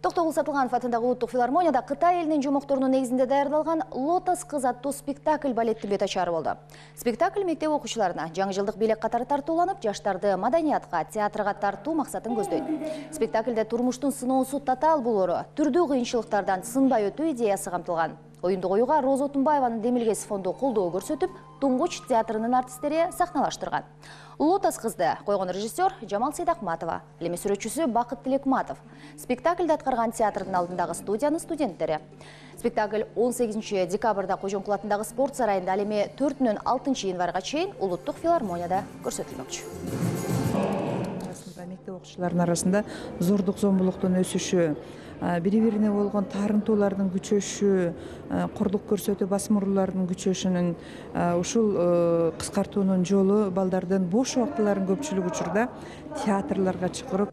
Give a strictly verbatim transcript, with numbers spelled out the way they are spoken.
Токтогул Сатылганов атындагы Улуттук филармонияда Кытай элинин жомокторунун негизинде даярдалган «Лотос кыз» аттуу спектакль балеттин бет ачары болду. Спектакль мектеп окуучуларына жаңы жылдык бийлик катары тартууланып, жаштарды маданиятка, театрга тартуу максатын көздөйт. Спектакльде турмуштун сыноосу татаал болору, түрдүү кыйынчылыктардан сынбай өтүү идеясы камтылган. Оюнду коюуга Роза Отунбаеванын Демилгес фонду колдоо көрсөтүп, Туңгуч театрынын артисттери сахналаштырган. «Лотос кызды» койгон режиссер Жамал Сейдакматова, элеме сүрөтчүсү Бакыт Тилекматов. Спектакльде аткарган театрдын алдындагы студиянын студенттери. Спектакль он сегизинчи декабрда Кожомкул атындагы спорт сарайында, ал эми төртүнөн алтынчы январга чейин Улуттук филармонияда көрсөтүлмөкчү. Мектеп окуучуларынын арасында зордук зомбулуктун өсүшү, бири-бирине болгон таарынтуулардын күчөшү, кордук көрсөтүү басым уруулардын күчөшүнүн ушул кыскартуунун жолу балдардын бош убактыларын көпчүлүк учурда театрларга чакырып